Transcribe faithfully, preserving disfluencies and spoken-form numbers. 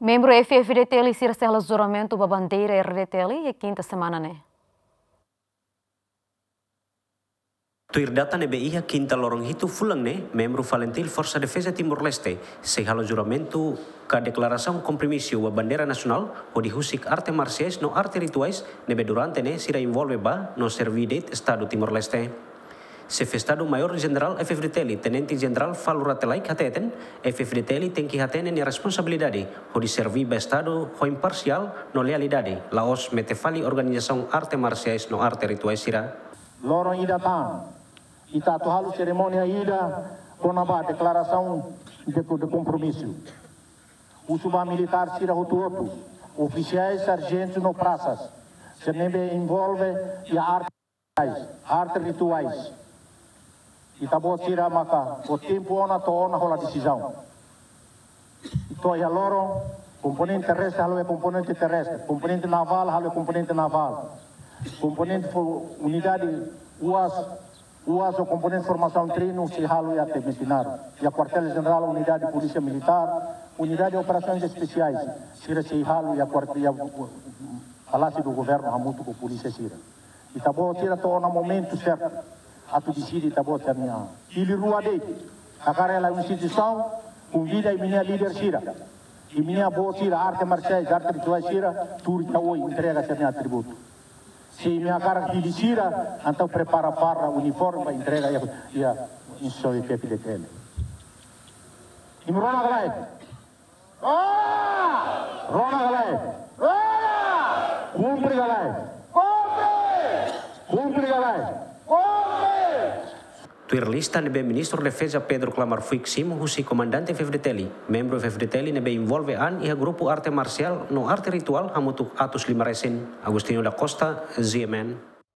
Membru F-FDTL sira sei halo juramentu ba bandeira R-DTL iha kinta semana ne'e. Tuir data ne'ebé iha kinta loron hitu fulan ne'e, membru FALINTIL Forsa Defeza Timor-Leste sei halo juramentu ka deklarasaun kompromisu ba bandeira nasionál hodi husik arte marsiais no arte rituais ne'ebé durante ne'e sira envolve ba no serví de'it Estadu Timor-Leste. Xefe Estadu Maiór Jenerál F-FDTL, Tenente Jenerál Falur Rate Laek hateten, F-FDTL tenke hatene nia responsabilidade hodi serví ba Estadu ho imparsiál no lealdade, la'ós mete fali organizasaun arte marsiais no arte rituais sira. Loron ida tan, ita atu halo serimónia ida kona-ba deklarasaun de, de kompromisu. Husu ba militár sira hotu-hotu, ofisiais, sarjentus no prasas sira ne'ebé envolve iha arte, arte rituais. Ita-boot sira maka fó tempu ona to'o ona hola desizaun. To'o iha loron, komponente terrestre halo iha komponente terrestre, komponente navál halo iha komponente navál, komponente fo-, unidade UAS, UAS ho komponente formasaun treinu sei halo iha Temetinaro. Iha Kuartél Jenerál, unidade polísia militár, unidade operasoens espesiais, sira sei halo iha kuart-, iha Palásiu Governu hamutuk ho polísia sira. Ita-boot sira to'o ona momentu sertu atu deside ita-boot sira-nia an. Hili rua de'it, hakarak hela instituisaun, konvida imi-nia líder sira, imi-nia boot sira, arte marsiais, arte rituais sira, tuur iha oin, entrega sira-nia atributu. Se imi hakarak hili sira, entaun prepara farda, uniforme ba entrega iha, iha instituisaun F-FDTL. Imi rona ka lae? Rona! Rona ka lae? Rona! Kumpre ka lae? Kumpre! Kumpre ka lae? Kumpre! Tuir lista ne'ebé Ministru Defeza Pedro Klamar Fuik simu husi komandante F-FDTL, membru F-FDTL ne'ebé envolve an iha grupu arte marsiál no arte rituál hamutuk atus lima resin. Agostinho da Costa, G M N.